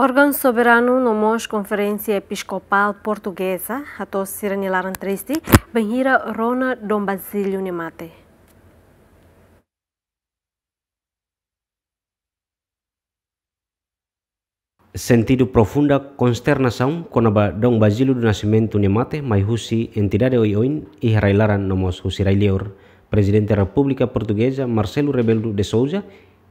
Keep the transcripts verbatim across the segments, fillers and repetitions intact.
Órgaun soberanu no mós Konferénsia Episkopál Portugeza hato'o sira-nia laran triste bainhira rona Dom Basílio nia mate. Sentidu profunda konsternasaun kona-ba Dom Basílio do Nascimento nia mate mai husi entidade oioin iha rai-laran no mós husi rai-liur. Prezidente Repúblika Portugeza Marcelo Rebelo de Sousa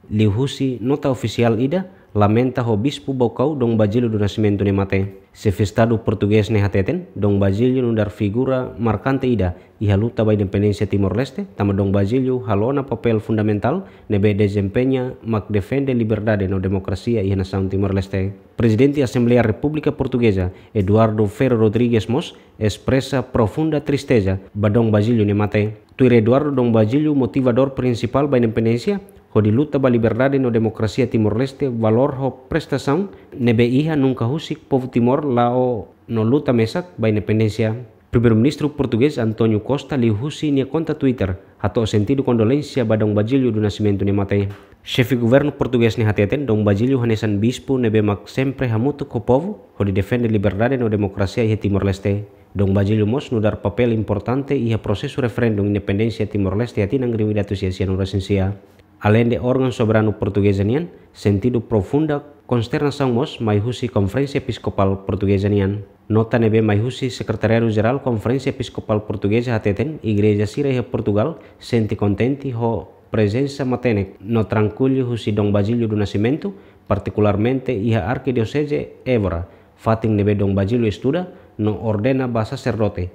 liuhusi nota ofisiál ida lamenta ho Bispu Baucau Dom Basílio do Nascimento nia mate. Xefe Estadu portugés ne'e hateten, Dom Basílio nu'udar figura markante ida iha luta ba independénsia Timor-Leste, tanba Dom Basílio halo ona papél fundamentál ne'ebé dezempeña mak defende liberdade no demokrasia iha nasaun Timor-Leste. Prezidente Asembleia Repúblika Portugeza, Eduardo Ferro Rodrigues mós espresa profunda tristeza ba Dom Basílio nia mate. Tuir Eduardo, Dom Basílio motivadór prinsipál ba independénsia, hodi luta ba liberdade no demokrasia Timor-Leste, valór ho prestasaun ne'ebé iha nunka husik povu Timor la'o no luta mesak ba independénsia. Primeiru-Ministru portugés António Costa liuhusi nia konta Twitter hato'o sentidu kondolénsia ba Dom Basílio do Nascimento nia mate. Xefe governu portugés ne'e hateten, Dom Basílio hanesan bispu ne'ebé mak sempre hamutuk ho povu hodi defende liberdade no demokrasia iha Timor-Leste. Dom Basílio mós nu'udar papél importante iha prosesu referendu independénsia Timor-Leste iha tinan rihun ida atus sia sianulu resin sia. Aleinde órgaun soberanu portugeza nian, sentidu profunda konsternasaun mós mai husi Konferénsia Episkopál Portugeza nian. Nota ne'ebé mai husi Sekretariadu Jerál Konferénsia Episkopál Portugeza hateten, igreja sira iha Portugal sente kontente ho prezensa matenek no trankuilu husi Dom Basílio do Nascimento, partikularmente iha Arkidioseze Évora, fatin ne'ebé Dom Basílio estuda no ordena ba saserdote,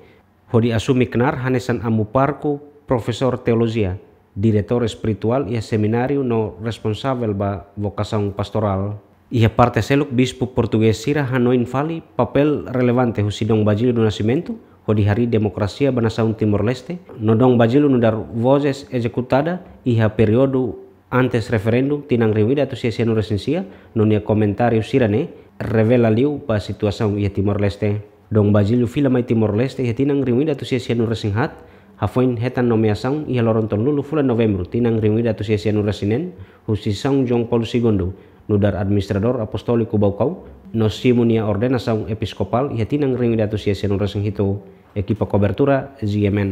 hodi asume knaar hanesan amu pároku, profesór teolojia, diretór espirituál iha semináriu no responsavel ba vokasaun pastorál. Iha parte seluk, bispu portugés sira hanoin fali papél relevante husi Dom Basílio do Nascimento hodi harii demokrasia ba nasaun Timor-Leste, no Dom Basílio nu'udar vozes ezekutada iha períodu antes referendu tinan rihun ida atus sia sianulu resin sia, no nia komentáriu sira-ne'e revela liu ba situasaun iha Timor-Leste. Dom Basílio fila mai Timor-Leste iha tinan rihun ida atus sia sianulu resin haat, hafoin hetan nomeasaun iha loron tolunulu fulan Novembru tinan rihun ida atus sia sianulu resin neen, husi São João Paulo Segundo, nu'udar Administradór Apostóliku Baucau, no simu nia ordenasaun episkopál iha tinan rihun ida atus sia sianulu resin hitu. Ekipa kobertura, G M N.